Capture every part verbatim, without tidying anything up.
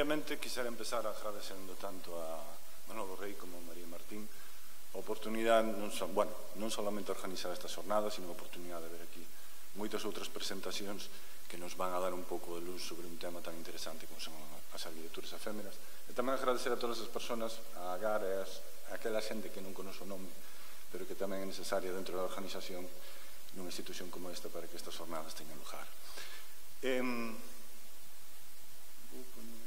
Primeiramente, quixera empezar agradecendo tanto a Manolo Rei como a María Martín a oportunidade, non, so, bueno, non solamente organizar esta xornada, sino a oportunidade de ver aquí moitas outras presentacións que nos van a dar un pouco de luz sobre un tema tan interesante como son as arquitecturas efémeras. E tamén agradecer a todas as persoas, a Agar e a aquela xente que non conoce o nome, pero que tamén é necesaria dentro da organización nunha institución como esta para que estas jornadas teñan lugar. Eh, vou poner...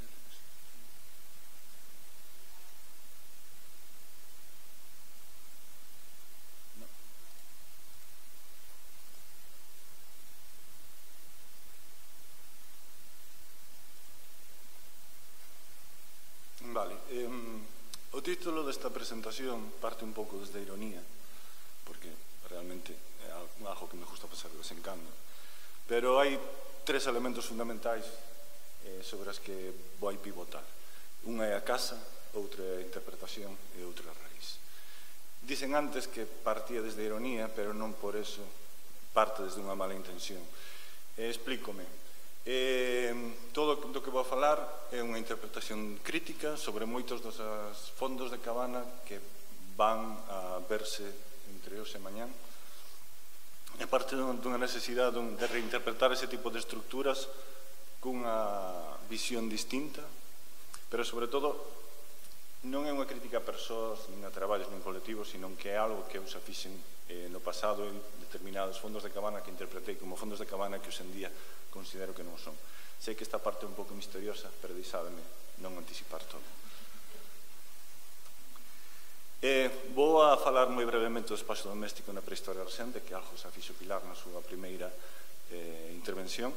No. Vale. Eh, o título desta presentación parte un pouco desde a ironía, porque realmente é algo que me gusta pasar de vez en cando. Pero hai tres elementos fundamentais eh, sobre as que vou pivotar. Unha é a casa, outra é a interpretación e outra é a raíz. Dicen antes que partía desde a ironía, pero non por eso parte desde unha mala intención. Eh, explícome. Eh, todo do que vou falar é unha interpretación crítica sobre moitos dos fondos de cabana que van a verse entre hoxe e mañán. É parte dunha necesidade de reinterpretar ese tipo de estructuras cunha visión distinta, pero sobre todo non é unha crítica a persoas, nin a traballos, nin colectivos, sino que é algo que eu xa fixen no pasado en determinados fondos de cabana que interpretei como fondos de cabana que hoxe en día considero que non son. Sei que esta parte é un pouco misteriosa, pero deixádeme non anticipar todo. Eh, vou a falar moi brevemente do espacio doméstico na prehistoria recente, que algo xa fixo Pilar na súa primeira eh, intervención.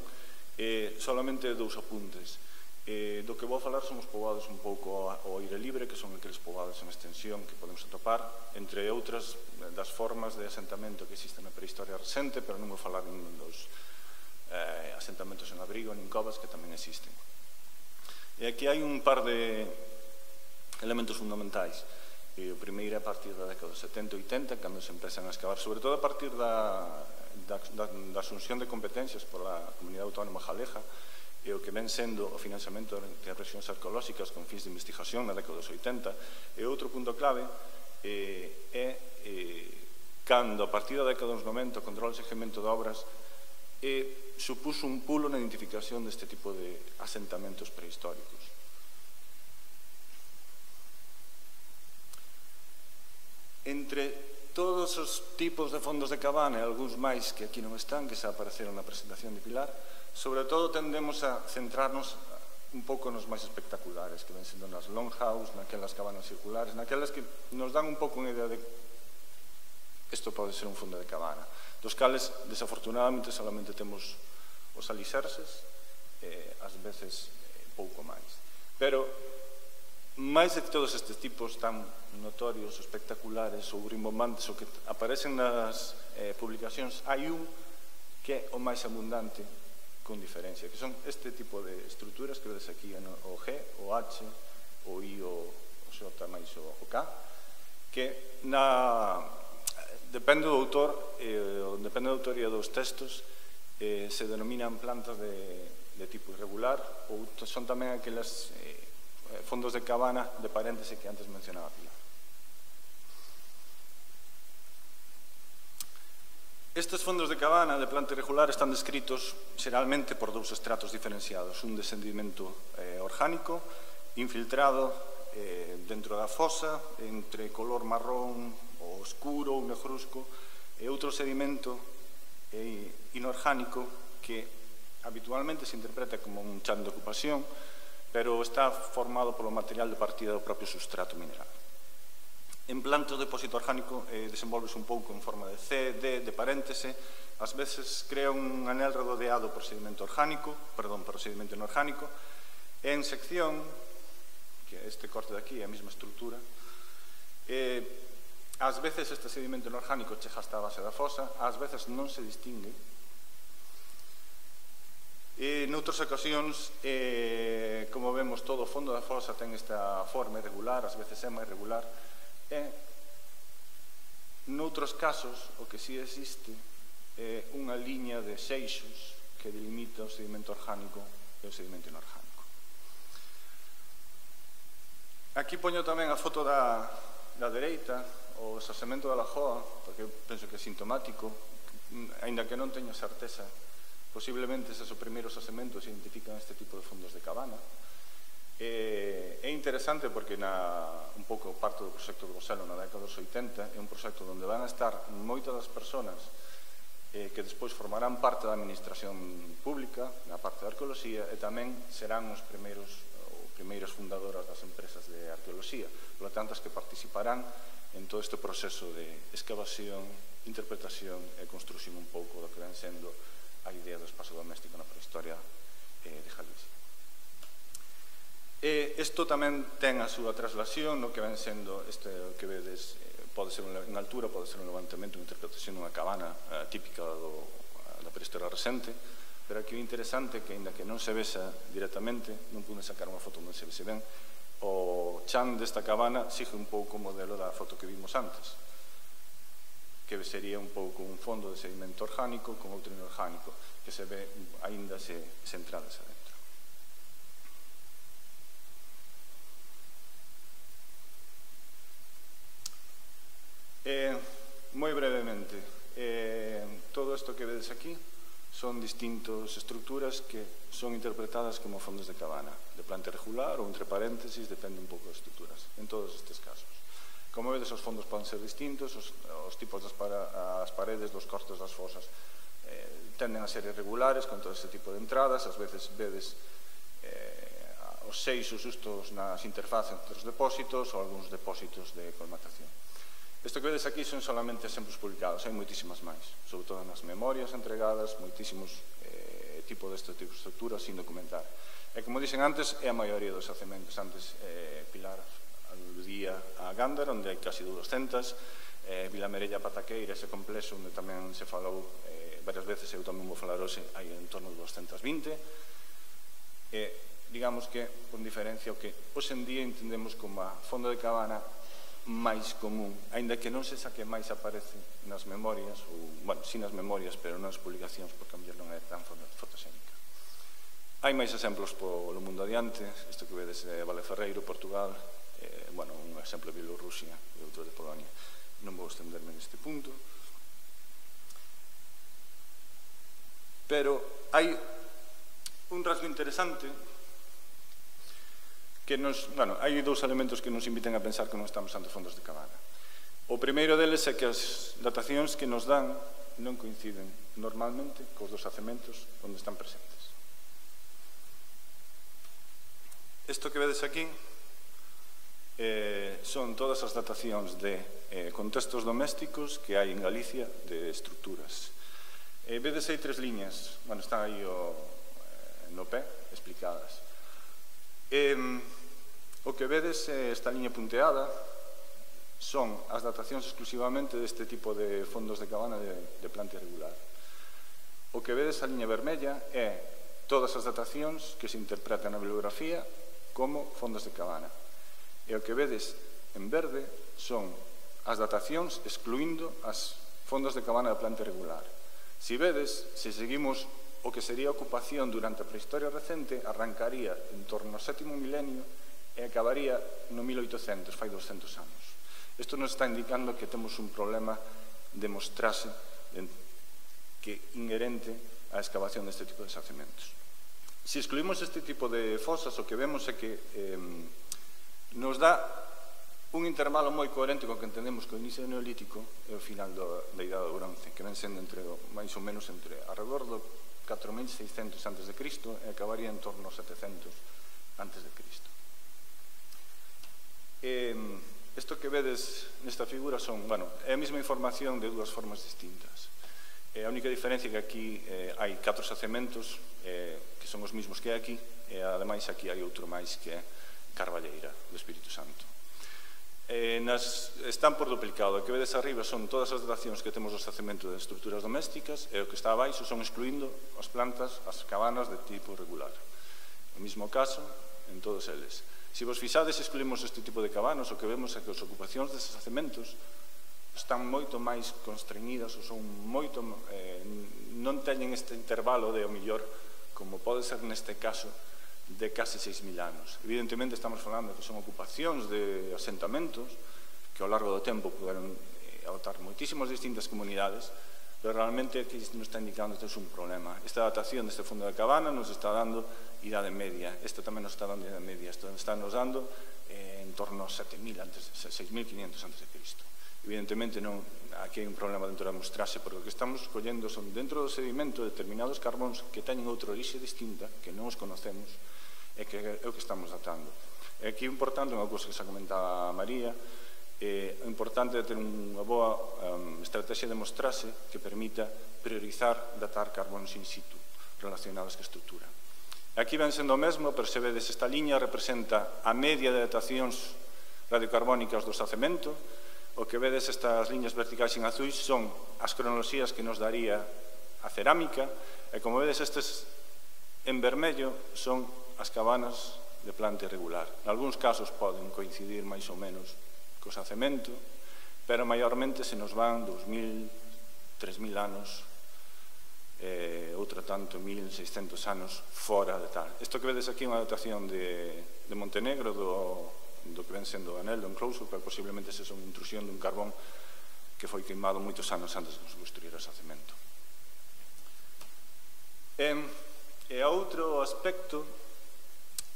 Eh, solamente dous apuntes. Eh, do que vou a falar son os poboados un pouco ao aire libre, que son aqueles poboados en extensión que podemos atopar, entre outras das formas de asentamento que existen na prehistoria recente, pero non vou falar nin dos eh, asentamentos en abrigo, nin covas, que tamén existen. E aquí hai un par de elementos fundamentais. E o primeiro é a partir da década dos setenta e oitenta, cando se empezan a excavar, sobre todo a partir da, da, da, da asunción de competencias pola Comunidade Autónoma Galega, e o que ven sendo o financiamento de rexións arqueolóxicas con fins de investigación na década dos oitenta. E outro punto clave eh, é eh, cando, a partir da década dos noventa, o control e seguimento de obras eh, supuso un pulo na identificación deste tipo de asentamentos prehistóricos. Entre todos os tipos de fondos de cabana e algúns máis que aquí non están, que xa apareceron na presentación de Pilar, sobre todo tendemos a centrarnos un pouco nos máis espectaculares, que ven sendo nas longhouse, naquelas cabanas circulares, naquelas que nos dan un pouco unha idea de isto pode ser un fondo de cabana, dos cales, desafortunadamente, solamente temos os alicerces, e ás veces pouco máis. Pero máis de todos estes tipos tan notorios, espectaculares ou rimbombantes ou que aparecen nas eh, publicacións, hai un que é o máis abundante con diferencia, que son este tipo de estruturas que vedes aquí, o G, o H, o I, o J máis o K, que na, depende do autor, eh, depende da autoría dos textos, eh, se denominan plantas de, de tipo irregular, ou son tamén aquelas eh, fondos de cabana de paréntese que antes mencionaba Pilar. Estes fondos de cabana de planta irregular están descritos xeralmente por dous estratos diferenciados, un de sedimento eh, orgánico infiltrado eh, dentro da fosa entre color marrón ou escuro ou negruzco e outro sedimento eh, inorgánico que habitualmente se interpreta como un chan de ocupación, pero está formado polo material de partida do propio substrato mineral. En plantas de depósito orgánico eh, desenvolves un pouco en forma de C, D, de paréntese, ás veces crea un anel rodeado por sedimento orgánico, perdón, por sedimento inorgánico, e en sección, que este corte de aquí é a mesma estrutura, eh, ás veces este sedimento inorgánico chega hasta a base da fosa, ás veces non se distingue, e noutras ocasións, eh, como vemos, todo o fondo da fosa ten esta forma irregular, ás veces é máis irregular, e noutros casos o que si existe é unha liña de xeixos que delimita o sedimento orgánico e o sedimento inorgánico. Aquí poño tamén a foto da, da dereita, o xasemento da Lagoa, porque penso que é sintomático, aínda que non teño certeza, posiblemente eses os primeiros xasementos identifican este tipo de fondos de cabana. É interesante porque na, un pouco parte do proxecto do Goselo na década dos oitenta é un proxecto onde van a estar moitas das persoas eh, que despois formarán parte da administración pública, na parte de arqueoloxía, e tamén serán os primeiros ou primeiras fundadoras das empresas de arqueoloxía, por lo tanto as que participarán en todo este proceso de excavación, interpretación e construción un pouco do que ven sendo a idea do espazo doméstico na prehistoria eh, de Galicia. E isto tamén ten a súa traslación no que ven sendo este que vedes, eh, pode ser en altura, pode ser un levantamento, unha interpretación dunha cabana eh, típica do, da prehistoria recente, pero aquí o interesante é que, ainda que non se vexa directamente, non pude sacar unha foto onde se vese ben, o chan desta cabana sigue un pouco o modelo da foto que vimos antes, que sería un pouco un fondo de sedimento orgánico con outro inorgánico, que se ve aínda se centradas adentro. Eh, moi brevemente, eh, todo isto que vedes aquí son distintas estructuras que son interpretadas como fondos de cabana, de planta irregular ou entre paréntesis, depende un pouco das estruturas, en todos estes casos. Como vedes, os fondos poden ser distintos, os, os tipos das para, as paredes, dos cortes das fosas eh, tenden a ser irregulares con todo este tipo de entradas, ás veces vedes eh, os seixos justos nas interfaces entre os depósitos ou algúns depósitos de colmatación. Isto que vedes aquí son solamente exemplos publicados, hai moitísimas máis, sobre todo nas memorias entregadas, moitísimos eh, tipos deste tipo de estructuras sin documentar. E como dixen antes, é a maioría dos xacementos. Antes eh, Pilar aludía a Gándara, onde hai casi doscientas, eh, Vilamerella, Pataqueira, ese complexo onde tamén se falou eh, varias veces, eu tamén vou falar hoxe, hai en torno de doscientas vinte. E digamos que, con diferencia, o que hoxe en día entendemos como a fondo de cabana máis común, aínda que non se saque máis aparece nas memorias, ou, bueno, si nas memorias, pero non nas publicacións, porque a mellor non é tan fotoxénica. Hai máis exemplos polo mundo adiante, isto que vedes é Valeferreiro, Portugal, eh, bueno, un exemplo de Bielorrusia e outro de Polonia. Non vou estenderme neste punto. Pero hai un rasgo interesante que nos, bueno, hai dous elementos que nos inviten a pensar que non estamos ante fondos de cabana. O primeiro deles é que as datacións que nos dan non coinciden normalmente cos dos xacementos onde están presentes. Isto que vedes aquí eh, son todas as datacións de eh, contextos domésticos que hai en Galicia de estruturas. Eh, vedes aí tres liñas, bueno, están aí o, eh, no pé, explicadas. Eh, o que vedes, eh, esta liña punteada, son as datacións exclusivamente deste tipo de fondos de cabana de, de planta irregular. O que vedes, a liña vermella, é todas as datacións que se interpretan na bibliografía como fondos de cabana. E o que vedes en verde son as datacións excluindo as fondos de cabana de planta irregular. Si vedes, se seguimos o que sería a ocupación durante a prehistoria recente, arrancaría en torno ao sétimo milenio e acabaría no mil oitocentos, fai doscientos anos. Isto nos está indicando que temos un problema de mostrase que inherente á excavación deste tipo de xacementos. Se excluímos este tipo de fosas, o que vemos é que eh, nos dá un intervalo moi coherente con que entendemos que o inicio do Neolítico é o final do, da Idade do Bronce, que ven sendo entre, máis ou menos entre alrededor do catro mil seiscentos antes de Cristo e acabaría en torno aos setecentos antes de Cristo. Eh, isto que vedes nesta figura son, bueno, é a mesma información de dúas formas distintas. Eh, a única diferencia é que aquí eh, hai catro xacementos eh, que son os mesmos que aquí, e ademais aquí hai outro máis que é Carballeira, do Espírito Santo. Eh, nas, están por duplicado. O que vedes arriba son todas as datacións que temos dos xacementos de estruturas domésticas, e o que está abaixo son excluindo as plantas, as cabanas de tipo regular. O mesmo caso en todos eles. Se vos fixades, excluímos este tipo de cabanos, o que vemos é que as ocupacións destes xacementos están moito máis constreñidas ou son moito, eh, non teñen este intervalo de, o mellor, como pode ser neste caso, de case seis mil anos. Evidentemente estamos falando que son ocupacións de asentamentos que ao largo do tempo poderon adoptar moitísimas distintas comunidades, pero realmente aquí nos está indicando que isto é un problema. Esta datación deste fondo da cabana nos está dando idade media, esta tamén nos está dando idade media, isto está nos dando eh, en torno a sete mil, seis mil quinientos antes de Cristo. Evidentemente non, aquí hai un problema dentro da mostraxe, porque o que estamos collendo son dentro do sedimento determinados carbóns que teñen outra orixe distinta, que non os conocemos, e que é o que estamos datando. E aquí é importante unha cousa que xa comentaba María, é importante ter unha boa um, estrategia de mostraxe que permita priorizar datar carbóns in situ relacionados ca estrutura. Aquí ven sendo o mesmo, pero se vedes esta liña representa a media de datacións radiocarbónicas do xacemento. O que vedes estas liñas verticais en azuis son as cronoloxías que nos daría a cerámica, e como vedes estes en vermello son as cabanas de planta irregular. En algúns casos poden coincidir máis ou menos co xacemento, pero maiormente se nos van dous mil, tres mil anos, eh, outro tanto, mil seiscentos anos fora de tal. Isto que vedes aquí é unha datación de, de Montenegro, do do que ven sendo o anel, do enclosure, pero posiblemente se son intrusión dun carbón que foi queimado moitos anos antes de construir o xacemento. E, e outro aspecto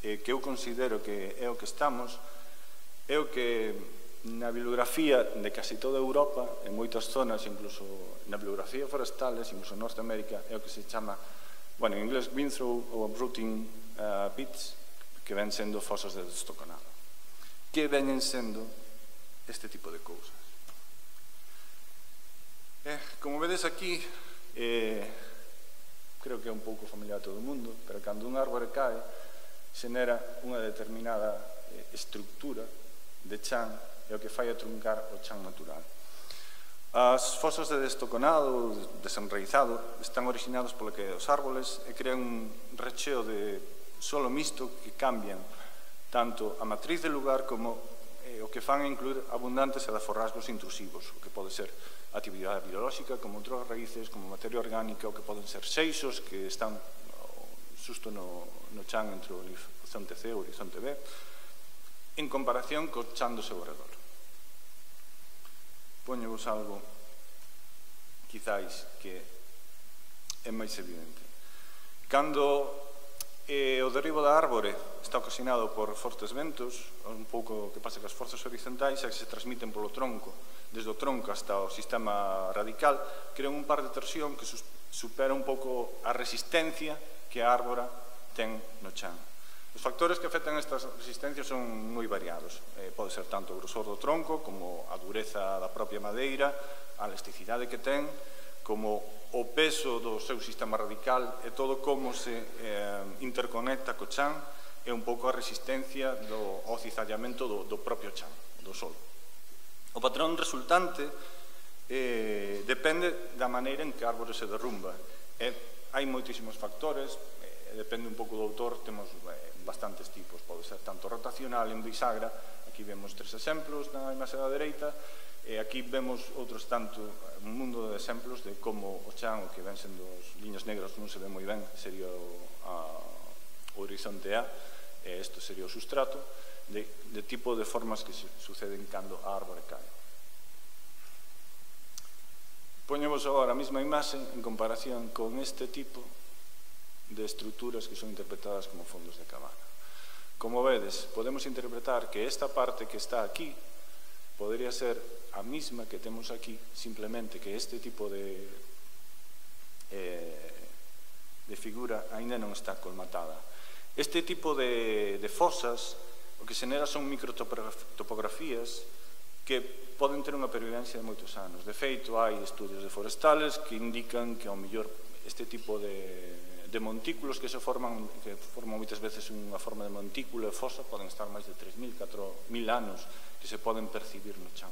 eh, que eu considero que é o que estamos, é o que na bibliografía de casi toda Europa, en moitas zonas, incluso na bibliografía forestales, incluso en Norteamérica, é o que se chama, bueno, en inglés, windthrow ou uprooting uh, pits, que ven sendo fosas de destoconado. Que veñen sendo este tipo de cousas. Eh, como vedes aquí, eh, creo que é un pouco familiar a todo o mundo, pero cando un árbore cae, xenera unha determinada eh, estructura de chan, e o que fai a truncar o chan natural. As fosas de destoconado, desenraizado, están originados polo que os árboles e crean un recheo de solo mixto que cambian tanto a matriz del lugar como eh, o que fan a incluir abundantes edaforrasgos intrusivos, o que pode ser actividade biolóxica, como outras raíces, como materia orgánica, o que poden ser seixos que están xusto no, no chan entre o horizonte C e o horizonte B, en comparación co chan do seu redor. Poñevos algo, quizáis, que é máis evidente. Cando E o derribo da árbore está ocasionado por fortes ventos, un pouco que pasa que as forzas horizontais que se transmiten polo tronco, desde o tronco hasta o sistema radical, crean un par de torsión que supera un pouco a resistencia que a árbora ten no chan. Os factores que afectan estas resistencias son moi variados. Eh, pode ser tanto o grosor do tronco, como a dureza da propia madeira, a elasticidade que ten, como o peso do seu sistema radical e todo como se eh, interconecta co chan e un pouco a resistencia do ao cizallamento do, do propio chan, do solo. O patrón resultante eh, depende da maneira en que a árbore se derrumba. E hai moitísimos factores, eh, depende un pouco do autor, temos eh, bastantes tipos, pode ser tanto rotacional en bisagra, aquí vemos tres exemplos na imaxe da dereita, e aquí vemos outros tanto, un mundo de exemplos de como o chan, o que ven sendo os liñas negras non se ve moi ben, sería o, a, o horizonte A, e isto sería o sustrato, de, de tipo de formas que se suceden cando a árbore cae. Poñemos agora a mesma imaxe en comparación con este tipo de estruturas que son interpretadas como fondos de cabana. Como vedes, podemos interpretar que esta parte que está aquí podría ser a mesma que temos aquí, simplemente que este tipo de, eh, de figura aínda non está colmatada. Este tipo de, de fosas o que xenera son microtopografías que poden ter unha pervivencia de moitos anos. De feito, hai estudios de forestales que indican que ao mellor este tipo de, de montículos que se forman, que forman moitas veces unha forma de montículo e fosa, poden estar máis de tres mil, catro mil anos que se poden percibir no chan.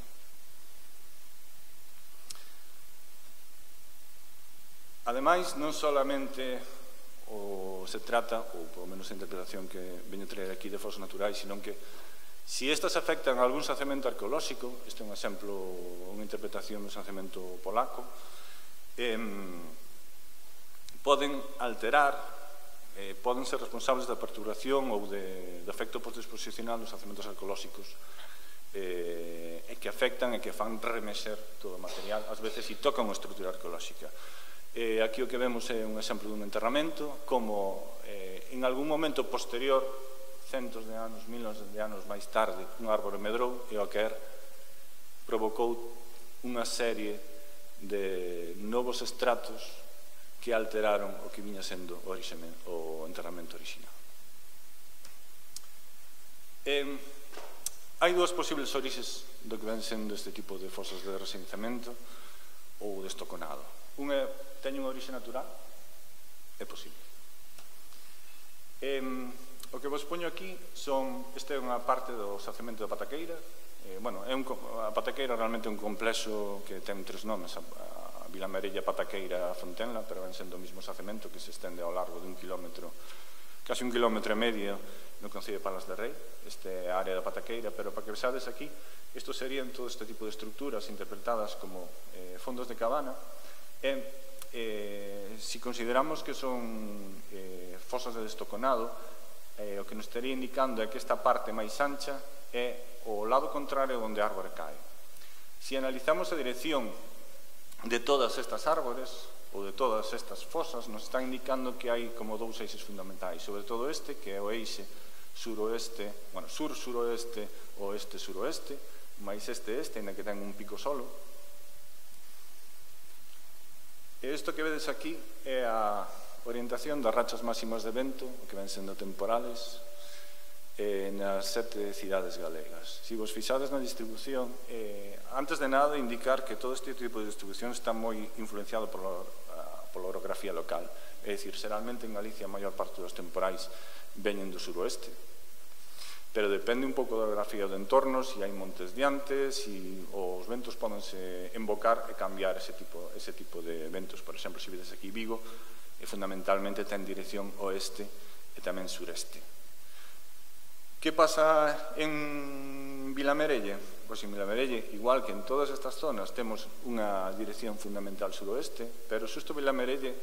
Ademais, non solamente o se trata, ou polo menos a interpretación que veño traer aquí de fosas naturais, sino que se estas afectan a algún xacemento arqueolóxico, este é un exemplo, unha interpretación do xacemento polaco, eh, poden alterar eh, poden ser responsables da perturbación ou de, de efecto postdisposicional dos xacementos arqueolóxicos eh, e que afectan e que fan remexer todo o material, ás veces e tocan unha estrutura arqueolóxica. Eh, aquí o que vemos é un exemplo dun enterramento, como eh, en algún momento posterior, centos de anos, miles de anos máis tarde, un árbore medrou e o que er provocou unha serie de novos estratos que alteraron o que viña sendo o, o enterramento original. Eh, hai dúas posibles orixes do que ven sendo este tipo de fosas de resenciamento ou de estoconado. Unha teñe unha orixe natural? É posible. Eh, o que vos poño aquí son, esta é unha parte do xacemento da Pataqueira. Eh, bueno, é un, a Pataqueira realmente é un complexo que ten tres nomes, a, a Vilamarella, Pataqueira, a Fontenla, pero ven sendo o mismo xacemento que se estende ao largo de un kilómetro, casi un kilómetro e medio no Concello de Palas de Rei, este é a área da Pataqueira, pero para que vexades aquí, isto serían todo este tipo de estructuras interpretadas como eh, fondos de cabana, e eh, si consideramos que son eh, fosas de destoconado, eh, o que nos estaría indicando é que esta parte máis ancha é o lado contrario onde a árbore cae. Se analizamos a dirección de todas estas árbores ou de todas estas fosas, nos está indicando que hai como dous eixes fundamentais, sobre todo este, que é o eixe suroeste, bueno, sur-suroeste, oeste-suroeste, máis este-este, ainda que ten un pico solo. E isto que vedes aquí é a orientación das rachas máximas de vento, que ven sendo temporales, Eh, nas sete cidades galegas. Se vos fixades na distribución, eh, antes de nada indicar que todo este tipo de distribución está moi influenciado pola, pola orografía local. É dicir, xeralmente en Galicia a maior parte dos temporais veñen do suroeste, pero depende un pouco da orografía do entorno, se hai montes diantes, se os ventos podense embocar e cambiar ese tipo, ese tipo de ventos. Por exemplo, se vedes aquí Vigo, e fundamentalmente ten dirección oeste e tamén sureste. Que pasa en Vilamerelle? Pois en Vilamerelle, igual que en todas estas zonas, temos unha dirección fundamental suroeste, pero xusto Vilamerelle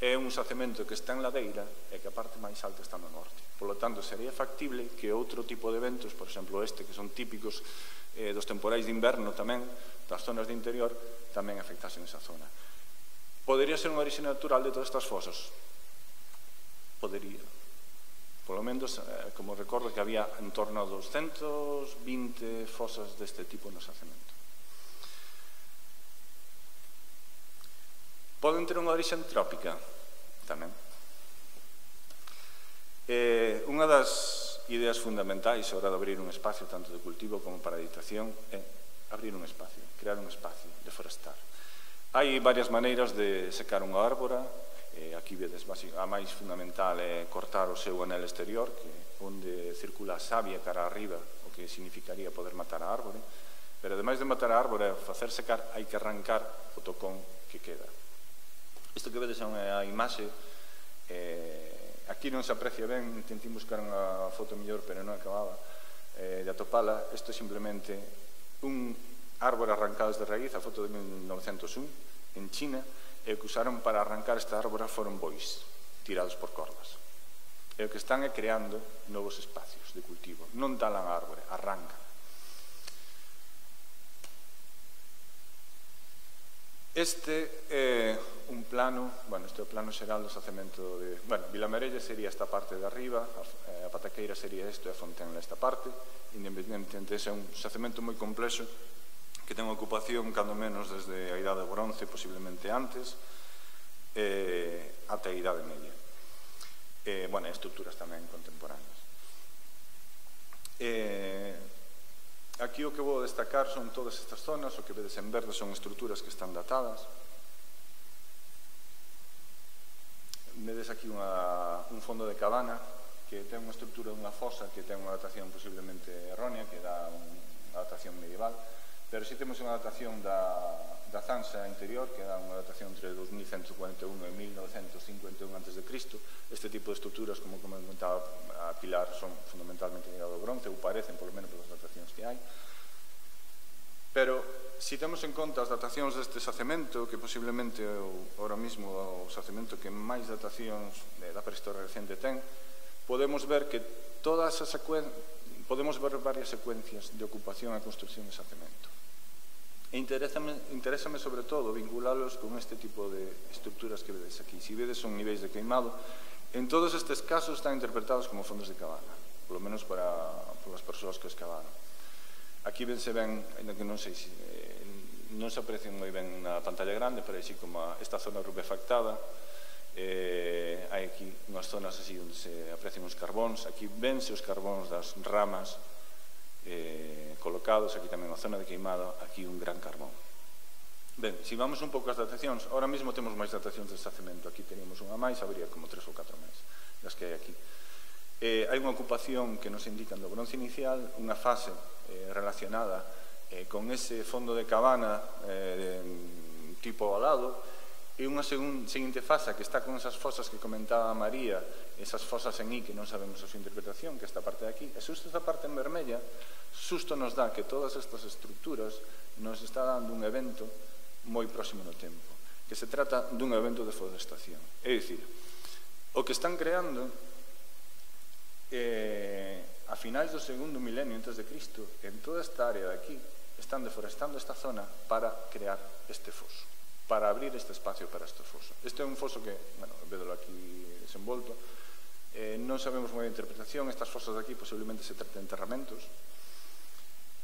é un xacemento que está en ladeira e que a parte máis alta está no norte. Por lo tanto, sería factible que outro tipo de ventos, por exemplo este, que son típicos eh, dos temporais de inverno tamén, das zonas de interior, tamén afectasen esa zona. Podería ser unha orixe natural de todas estas fosas? Podería. Por lo menos, eh, como recordo que había en torno a doscientas vinte fosas deste tipo no xacemento. Poden ter unha orixe antrópica tamén. Eh, unha das ideas fundamentais a hora de abrir un espacio tanto de cultivo como para editación é abrir un espacio, crear un espacio de forestar. Hai varias maneiras de secar unha árbora. Eh, aquí vedes a máis fundamental é cortar o seu anel exterior, que onde circula a savia cara arriba, o que significaría poder matar a árbore, pero ademais de matar a árbore, facer secar, hai que arrancar o tocón que queda. Isto que vedes é unha imaxe, eh, aquí non se aprecia ben, intentei buscar unha foto mellor, pero non acababa eh, de atopala. Isto é simplemente un árbore arrancado desde raíz, a foto de mil novecentos un, en China, e o que usaron para arrancar esta árbora foron bois, tirados por cordas. E o que están é creando novos espacios de cultivo. Non talan a árbore, arrancan. Este é un plano, bueno, este é o plano xeral do xacemento de... Bueno, Vilamerelle sería esta parte de arriba, a Pataqueira sería isto e a Fontenla esta parte. Independentemente, ese é un xacemento moi complexo que ten ocupación, cando menos, desde a Idade Bronce, posiblemente antes, eh, ata a Idade Media. Eh, bueno, estruturas tamén contemporáneas. Eh, aquí o que vou destacar son todas estas zonas, o que vedes en verde son estruturas que están datadas. Vedes aquí unha, un fondo de cabana que ten unha estrutura dunha fosa que ten unha datación posiblemente errónea, que dá unha datación medieval, pero si temos unha datación da, da zanxa interior, que dá unha datación entre dos mil ciento cuarenta e un e mil novecentos cincuenta e un antes de Cristo. Este tipo de estruturas, como comentaba a Pilar, son fundamentalmente de Idade do Bronce, ou parecen, polo menos, pelas datacións que hai. Pero, se temos en conta as datacións deste xacemento, que posiblemente ahora mismo o xacemento que máis datacións da prehistoria recente ten, podemos ver que todas as secuen... podemos ver varias secuencias de ocupación e construcción de xacemento. E interésame, interésame sobre todo vinculalos con este tipo de estructuras que vedes aquí. Se vedes son niveis de queimado, en todos estes casos están interpretados como fondos de cabana, polo menos para, para as persoas que os cavaron. Aquí vense ben, ainda que non sei se eh, non se aprecian moi ben na pantalla grande, pero así como a, esta zona rubefactada, eh, hai aquí unhas zonas así onde se aprecian os carbóns, aquí vense os carbóns das ramas eh, colocados, aquí tamén a zona de queimado, aquí un gran carbón. Ben, se vamos un pouco ás datacións, ahora mesmo temos máis datacións de xacemento, aquí teníamos unha máis, habería como tres ou catro máis das que hai aquí. Eh, hai unha ocupación que nos indican do bronce inicial, unha fase eh, relacionada eh, con ese fondo de cabana eh, de, tipo ovalado, e unha segun, seguinte fase que está con esas fosas que comentaba María, esas fosas en I que non sabemos a súa interpretación, que esta parte de aquí, e xusto esta parte en vermella, xusto nos dá que todas estas estructuras nos está dando un evento moi próximo no tempo, que se trata dun evento de forestación. É dicir, o que están creando Eh, a finais do segundo milenio antes de Cristo, en toda esta área de aquí, están deforestando esta zona para crear este foso, para abrir este espacio para este foso. Este é un foso que, bueno, vedelo aquí desenvolto, eh, non sabemos moi a interpretación, estas fosas de aquí posiblemente se traten de enterramentos,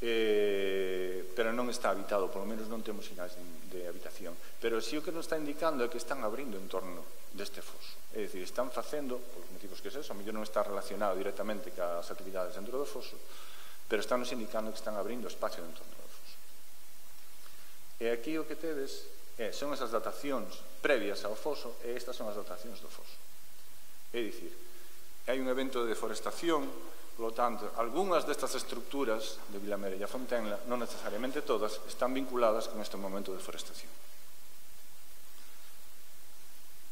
eh, pero non está habitado, polo menos non temos sinais de, de habitación. Pero si o que nos está indicando é que están abrindo en torno deste foso. É dicir, están facendo, polos motivos que é eso, a mellor non está relacionado directamente cas actividades dentro do foso, pero están nos indicando que están abrindo espacio en torno do foso. E aquí o que tedes é, son esas datacións previas ao foso e estas son as datacións do foso. É dicir, hai un evento de deforestación, polo tanto, algunhas destas estructuras de Vilamere e a Fontenla, non necesariamente todas, están vinculadas con este momento de deforestación.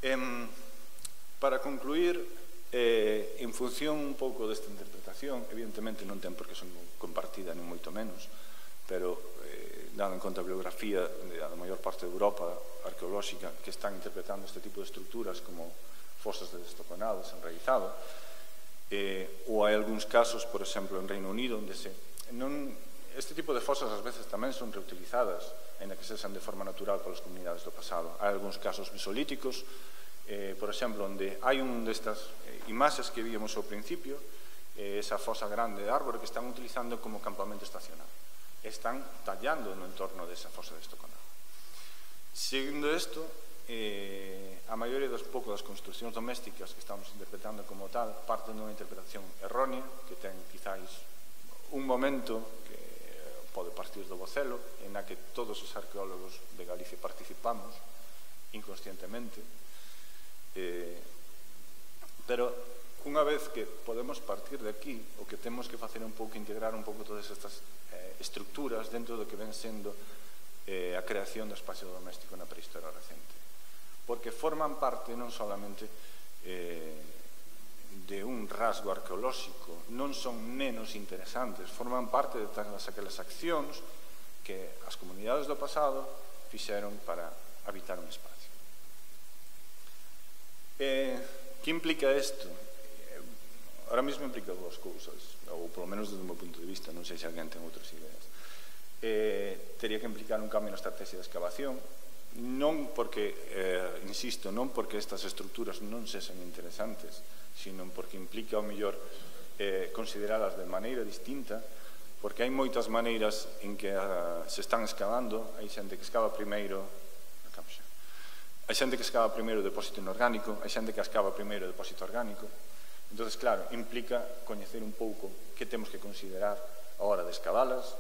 Em, para concluir, eh, en función un pouco desta interpretación, evidentemente non ten por que son compartida nin moito menos, pero eh, dando en conta a bibliografía da maior parte de Europa arqueolóxica que están interpretando este tipo de estruturas como fosas de destoconado, desenraizado, eh, ou hai algúns casos, por exemplo, en Reino Unido, onde se, non, este tipo de fosas ás veces tamén son reutilizadas, ainda que sexan de forma natural polas comunidades do pasado. Hai algúns casos mesolíticos, eh, por exemplo, onde hai un destas eh, imaxes que víamos ao principio, eh, esa fosa grande de árbore que están utilizando como campamento estacional. Están tallando no entorno desa fosa de estoconado. Seguindo isto, eh, a maioría das pouco das construccións domésticas que estamos interpretando como tal parten dunha interpretación errónea que ten quizáis un momento que pode partir do Bocelo en na que todos os arqueólogos de Galicia participamos inconscientemente, eh, pero unha vez que podemos partir de aquí, o que temos que facer un pouco integrar un pouco todas estas eh, estructuras dentro do que ven sendo eh, a creación do espacio doméstico na prehistoria recente, porque forman parte non solamente eh, de un rasgo arqueolóxico, non son menos interesantes, forman parte de todas aquelas accións que as comunidades do pasado fixeron para habitar un espacio. Eh, que implica isto? Eh, ahora mesmo implica dúas cousas, ou polo menos desde o meu punto de vista, non sei se alguén ten outras ideas. Eh, teria que implicar un cambio na estrategia de excavación, non porque, eh, insisto, non porque estas estructuras non sexan interesantes, sino porque implica, ao mellor, eh, consideralas de maneira distinta, porque hai moitas maneiras en que uh, se están excavando. Hai xente que excava primeiro, hai xente que excava primeiro o depósito inorgánico, hai xente que excava primeiro o depósito orgánico. Entón, claro, implica coñecer un pouco que temos que considerar a hora de excavalas,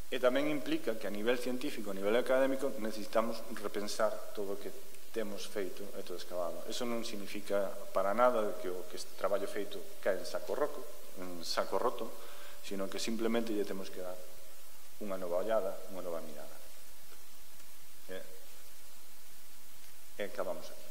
e tamén implica que a nivel científico, a nivel académico, necesitamos repensar todo o que temos feito e todo escavado. Eso non significa para nada que o que este traballo feito cae en saco roto, en saco roto, sino que simplemente lle temos que dar unha nova ollada, unha nova mirada. E, e acabamos aquí.